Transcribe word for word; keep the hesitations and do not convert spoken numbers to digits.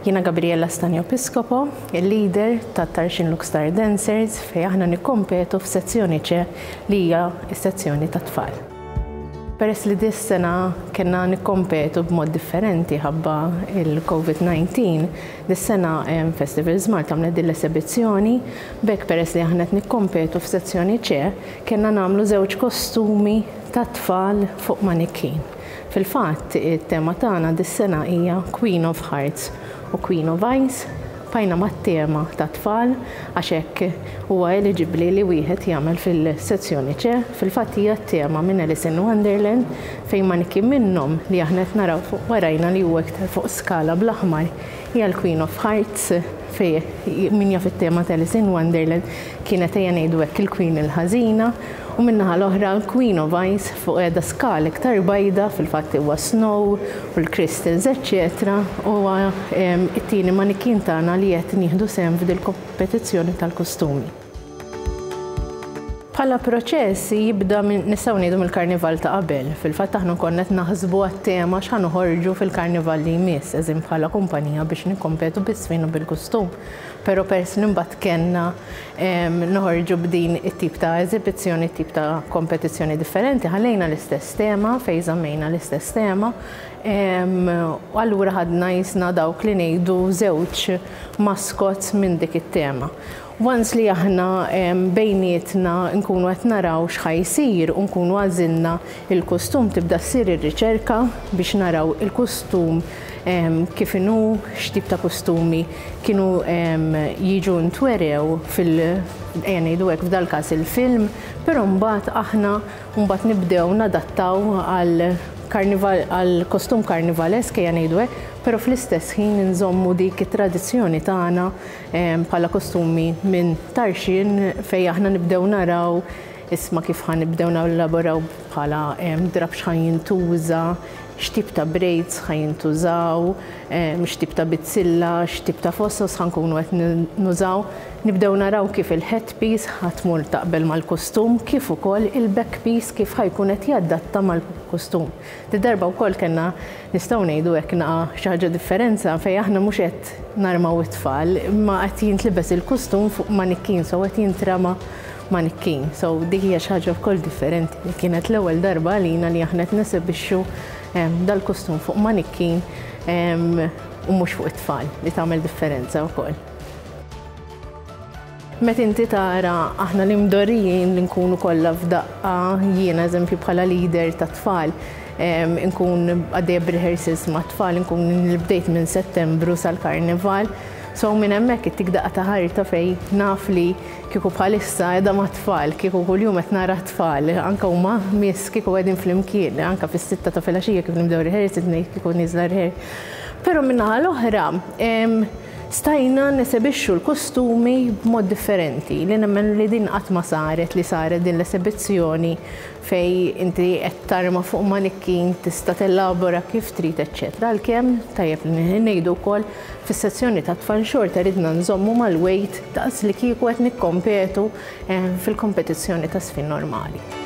Jiena Gabriella Stanjo Piscopo, il-leader ta' Tarxien Luxstar Dancers, fejn aħna nikkompetu f'sezzjoni C, li hija s-sezzjoni ta' tfal. Peress li dis-sena kellna nikkompetu b'mod differenti ħabba il-COVID dawnain, dis-sena Festivals Malta għamlet din l-esebizzjoni, b'hekk peress li aħna qed nikkompetu f'sezzjoni C, kellna nagħmlu żewġ kostumi ta' tfal fuq manikin. Fil-fatt, it-tema tagħna dis-sena hija Queen of Hearts u Queen of Ice. Bqajna mat-tema ta' tfal għax hekk huwa eligibbli li wieħed jagħmel fil-sezzjoni C. Fil-fatt hija t-tema minn Alice in Wonderland, fejn manikin minnhom li aħna qed naraw fuq warajna, li huwa iktar fuq skala bl-aħmar, hija l-Queen of Hearts, fejn min jaf it-tema ta' Alice in Wonderland kienet, ejja ngħidu hekk, il-Queen il-ħażina, u min-naħa l-oħra Queen of Ice fuq qiegħda skala iktar bajda, fil-fatt huwa snow u l-crystals, eċċetera. Huwa it-tieni manikin tagħna li qed nieħdu sehem f'dil kompetizzjoni tal-kostumi. Bħala proċess jibda minn, nistgħu ngħidu, mill-karnival ta' qabel. Fil-fatt aħna konna qed naħsbu għat-tema x'ħa noħorġu fil-karnival li jmiss, eżin bħala kumpanija biex nikkompetu bis-sfin u bil-kostum. Però peress li mbagħad kellna noħorġu b'din it-tip ta' eżibizzjoni, tip ta' kompetizzjoni differenti, ħallejna l-istess tema, fejn żammejna l-istess tema. U allura ħadna jisna dawk li ngħidu żewġ mascots minn dik it-tema. Once li aħna bejnietna nkunu qed naraw x'ħa jsir u nkunu għażilna il-kostum, tibda ssir ir-riċerka biex naraw il-kostum kif inhu, x'tip ta' kostumi kienu jiġu ntwerew fil ejja ngħidu hekk, f'dal każ il-film, però mbagħad aħna mbagħad nibdew nadattaw għal karnival, għal kostum karnivalesk, ejja ngħidu hekk, però fl-istess ħin nżommu dik it-tradizzjoni tagħna bħala kostumi minn Tarxien, fejn aħna nibdew naraw isma' kif ħa nibdew nelaboraw bħala drab x'ħa jintuża, x'tip ta' braids ħa jintużaw, x'tip ta' bizzilla, x'tip ta' fossos ħa nkunu qed nużaw. Nibdew naraw kif il-headpiece ħa tmur taqbel mal-kostum, kif ukoll il-backpiece kif ħa jkun qed jadatta mal-kostum. Di darba wkoll kellna, nistgħu ngħidu hekk, naqa xi ħaġa differenza fejn aħna mhux qed narmaw it-tfal, imma qed jintlibes il-kostum fuq manikin, so qed jintrama manikin. So dik hija xi ħaġa wkoll differenti li kienet l-ewwel darba għalina li aħna qed nesebixxu dal-kostum fuq manikin u mhux fuq it-tfal, li tagħmel differenza wkoll. Meta inti tara aħna li mdorrijin li nkunu kollha f'daqqa, jiena eżempju bħala leader ta' tfal, nkun għaddejja b'rehearsals ma' tfal, nkun bdejt minn Settembru sal-karnival. So minn hemmhekk ittik daqqa ta' ħarta fejn naf li kieku bħalissa qiegħda ma' tfal, kieku kuljum qed nara tfal, anke huma miss kieku qegħdin flimkien, anke fis-sitta ta' filgħaxija kif nibdew rehearsals ngħid kieku nieżla rehearsal. Però min-naħa l-oħra stajna nesebixxu l-kostumi b'mod differenti, li nemmen li din qatt ma saret, li saret din l-esebizzjoni fejn inti qed tarma fuq manikkin, tista' tellabora kif trid, eċċetera. Għalkemm tajjeb li ngħidu wkoll, fis-sezzjoni ta' tfal xorta ridna nżommu mal-weight daqs li kieku qed nikkompetu eh, fil-kompetizzjoni ta' sfin normali.